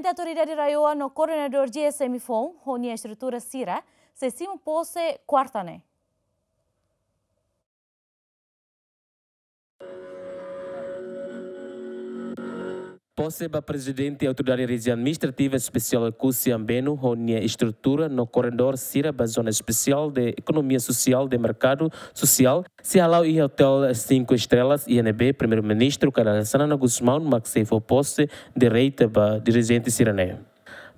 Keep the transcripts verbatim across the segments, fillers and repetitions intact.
Autoridade RAEOA no koordenadór G S M foun ho nia estrutura sira sei simu pose kuarta ne'e. Pose ba Prezidente Autoridade Rejiaun Administrativa Espesiál Oekusi Ambenu ho nia estrutura no koordenadór sira ba Zona Espesiál de Ekonomia Sosiál de Merkadu Sosiál sei hala'o iha Hotel Cinco Estrelas iha ne'ebé Primeiru-Ministru Kay Rala Xanana Gusmão mak sei fó pose direta ba dirijente sira-ne'e.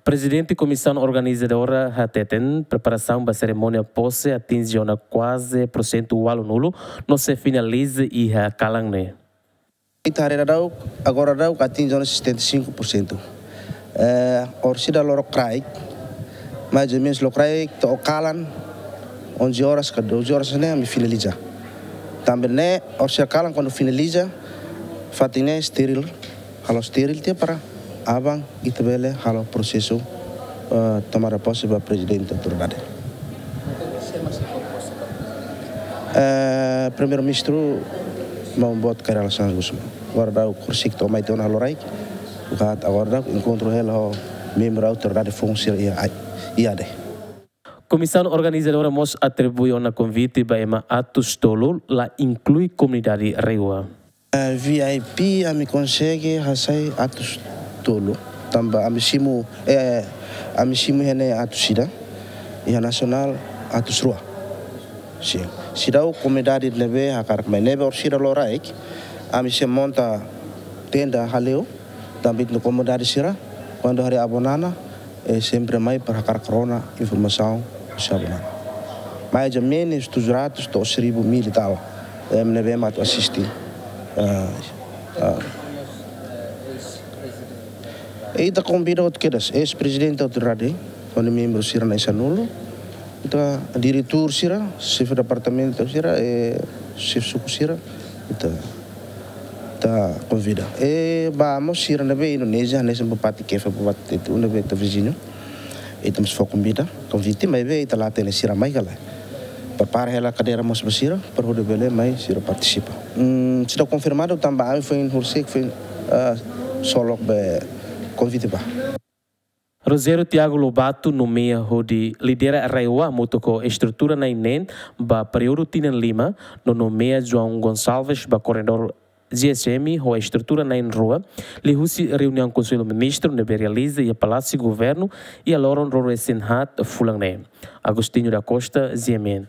Prezidente Komisaun Organizadora hateten preparasaun ba serimónia pose atinje ona kuaze porsentu ualunulu no sei finaliza iha kalan ne'e. Ita haree daudaun, agora daudaun atinje ona setenta e cinco por cento. Eh, orsida loron kraik, mais ou menos loron kraik to'o kalan, onze horas ka doze horas ne'e ami finaliza. Tanba ne'e, orsida kalan kuandu finaliza, fatin ne'e estéril, halo estéril tiha para aban ita bele halo prosesu, eh, tomada pose ba Prezidente Autoridade. Eh, Primeiru-Ministru maun boot Kay Rala Xanana Gusmão. Agora daudaun horisehik to'o mai tiha ona loraik, buka agora daudaun enkontru hela ho membru autoridade foun sira iha, iha ne'e. Komisaun Organizadora mós atribui ona konvite ba ema atus tolu, la inklui komunidade RAEOA. Eh, V I P ami konsege hasai atus tolu. Tanba ami simu, eh, ami simu iha ne'e atus ida, iha nasionál atus rua. Sin. Seidauk komunidade ne'ebé hakarak mai ne'ebé orsida loron kraik, ami sei monta tenda hale'u, tanba ita-nia komunidade sira, kuandu haree Avó Nana, eh, sempre mai para hakarak rona informasaun husi Avó Nana. Mais ou menos tujuh ratus to'o seribu mil e tal, eh, ne'ebé mak atu asiste. Ah, ah. Ita konvida hotu kedas, eis-prezidente autoridade, ho nia membru sira na'in sanulu, ita diretór sira, xefe departamentu sira, eh, xefe suku sira, ita ita konvida. E ba mós sira ne'ebé Indonézia, hanesan Bupati Keffe, Bupati Tetun ne'ebé ita viziñu. Ita mós fó konvida, konvite, maibé ita la hatene sira mai ka lae. Prepara hela kadeira mós ba sira, para hodi bele mai sira partisipa. Hmm, seidauk konfirmadu tanba ami foin horisehik foin, ah, solok be konvite ba. Rogério Tiago Lobato nomeia hodi lidera RAEOA hamutuk ho estrutura na'in neen ba períodu tinan lima, no nomeia João Gonçalves ba koordenadór G S M ho estrutura na'in rua, liuhusi reuniaun Konsellu Ministru ne'ebé realiza iha Palásiu Governu iha loron ruanulu-resin-haat fulan ne'e. Agostinho da Costa, G M N.